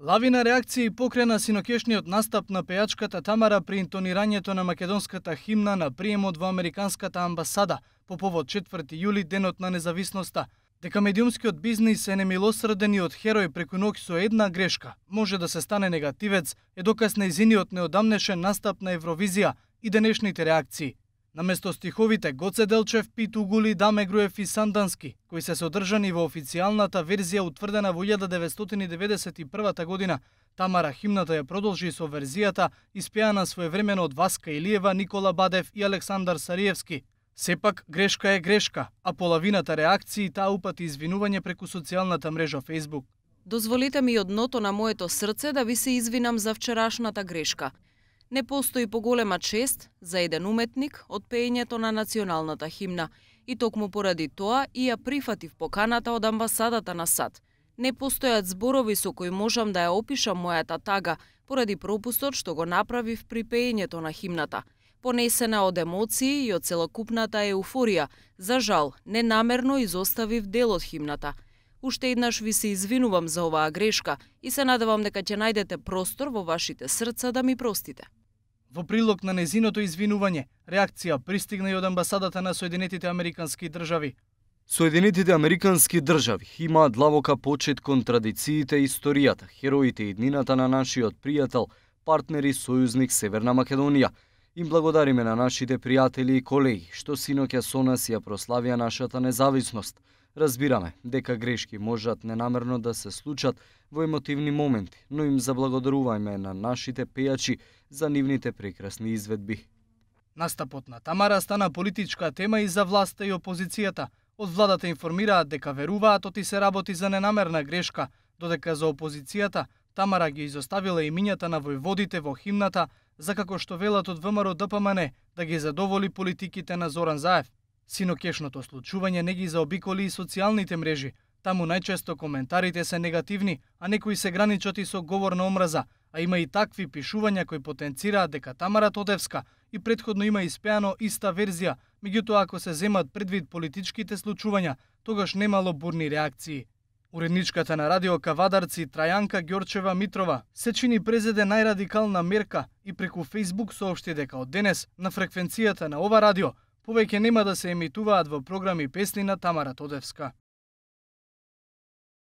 Лавина реакции покрена синокешниот настап на пејачката Тамара при интонирањето на македонската химна на приемот во Американската амбасада по повод 4 јули, денот на независноста. Дека медиумскиот бизнис е немилосрден и од херој преку ноќ со една грешка може да се стане негативец е доказ нејзиниот неодамнешен настап на Евровизија и денешните реакции. Наместо стиховите Гоце Делчев, Пит Угули, Даме Груев и Сандански, кои се содржани во официјалната верзија утврдена во 1991 година, Тамара химната ја продолжи со верзијата испеана своевремено од Васка Илиева, Никола Бадев и Александар Сариевски. Сепак, грешка е грешка, а половината реакции таа упати извинување преку социјалната мрежа Facebook. Дозволите ми од дното на моето срце да ви се извинам за вчерашната грешка. Не постои поголема чест за еден уметник од пеењето на националната химна и токму поради тоа и ја прифатив поканата од амбасадата на САД. Не постојат зборови со кои можам да ја опишам мојата тага поради пропустот што го направив при пеењето на химната. Понесена од емоции и од целокупната еуфорија, за жал, ненамерно изоставив дел од химната. Уште еднаш ви се извинувам за оваа грешка и се надевам дека ќе најдете простор во вашите срца да ми простите. Во прилог на незиното извинување, реакција пристигна и од амбасадата на Соединетите Американски држави. Соединетите Американски држави имаат длабока почет кон традициите и историјата, хероите и иднината на нашиот пријател, партнер и сојузник Северна Македонија. Им благодариме на нашите пријатели и колеги што синоќа со нас ја прославија нашата независност. Разбираме дека грешки можат ненамерно да се случат во емотивни моменти, но им заблагодарувајме на нашите пејачи за нивните прекрасни изведби. Настапот на Тамара стана политичка тема и за власта и опозицијата. Од владата информираат дека веруваат оти се работи за ненамерна грешка, додека за опозицијата Тамара ги изоставила имињата на војводите во химната за како што велат од ВМРО ДПМН да ги задоволи политиките на Зоран Заев. Синокешното случување не ги заобиколи и социјалните мрежи. Таму најчесто коментарите се негативни, а некои се граничат и со говор на омраза, а има и такви пишувања кои потенцираат дека Тамара Тодевска и претходно има испеано иста верзија, меѓутоа ако се земат предвид политичките случувања, тогаш немало бурни реакции. Уредничката на радио Кавадарци Трајанка Ѓорчева Митрова се чини презеде најрадикална мерка и преку Facebook соопшти дека од денес на фреквенцијата на ова радио повеќе нема да се емитуваат во програми песни на Тамара Тодевска.